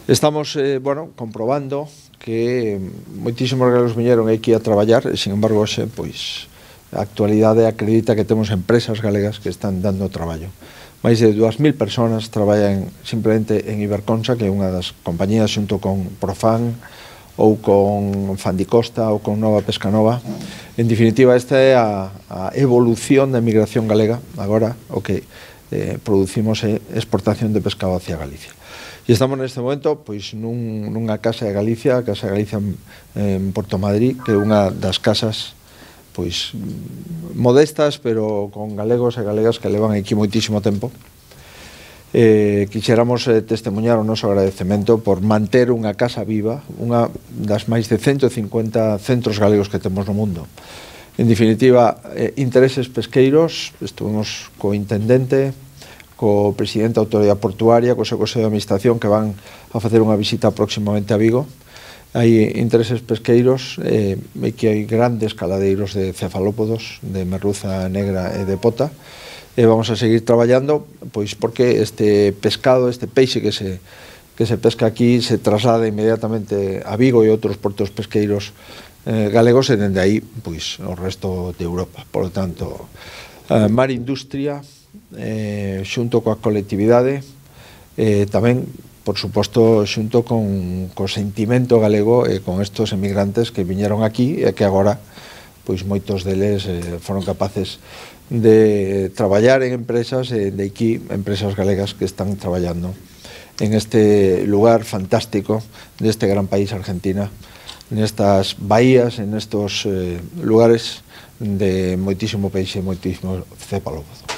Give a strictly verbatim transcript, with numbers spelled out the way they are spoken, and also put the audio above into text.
Estamos, eh, bueno, comprobando que moitísimos galegos viñeron aquí a traballar e, sin embargo, xe, pois, a actualidade acredita que temos empresas galegas que están dando traballo. Mais de dúas mil persoas traballan simplemente en Iberconsa, que é unha das compañías xunto con Profan ou con Fandicosta ou con Nova Pescanova. En definitiva, esta é a, a evolución da emigración galega. Agora, o que eh, producimos é exportación de pescado hacia Galicia. E estamos neste momento pois, nun, nunha casa de Galicia, a Casa de Galicia en, en Porto Madrid, que é unha das casas pois modestas, pero con galegos e galegas que levan aquí moitísimo tempo. Eh, quixéramos eh, testemunhar o noso agradecemento por manter unha casa viva, unha das máis de ciento cincuenta centros galegos que temos no mundo. En definitiva, eh, intereses pesqueiros, estuvimos co intendente, co presidente da Autoridade Portuaria, co seu Consello de Administración, que van a facer unha visita próximamente a Vigo. Hai intereses pesqueiros, eh, e que hai grandes caladeiros de cefalópodos, de merluza negra e de pota, e vamos a seguir traballando, pois porque este pescado, este peixe que se, que se pesca aquí, se traslada inmediatamente a Vigo e outros portos pesqueiros eh, galegos, e dende aí, pois, o resto de Europa. Por lo tanto, eh, Mar Industria, eh, xunto coa colectividade, eh, tamén, por suposto, xunto con co sentimento galego e con estos emigrantes que viñeron aquí e que agora, pois moitos deles eh, foron capaces de traballar en empresas e de aquí, empresas galegas que están traballando en este lugar fantástico deste gran país, Argentina, nestas bahías, en estos eh, lugares de moitísimo peixe, moitísimo cefalópodo.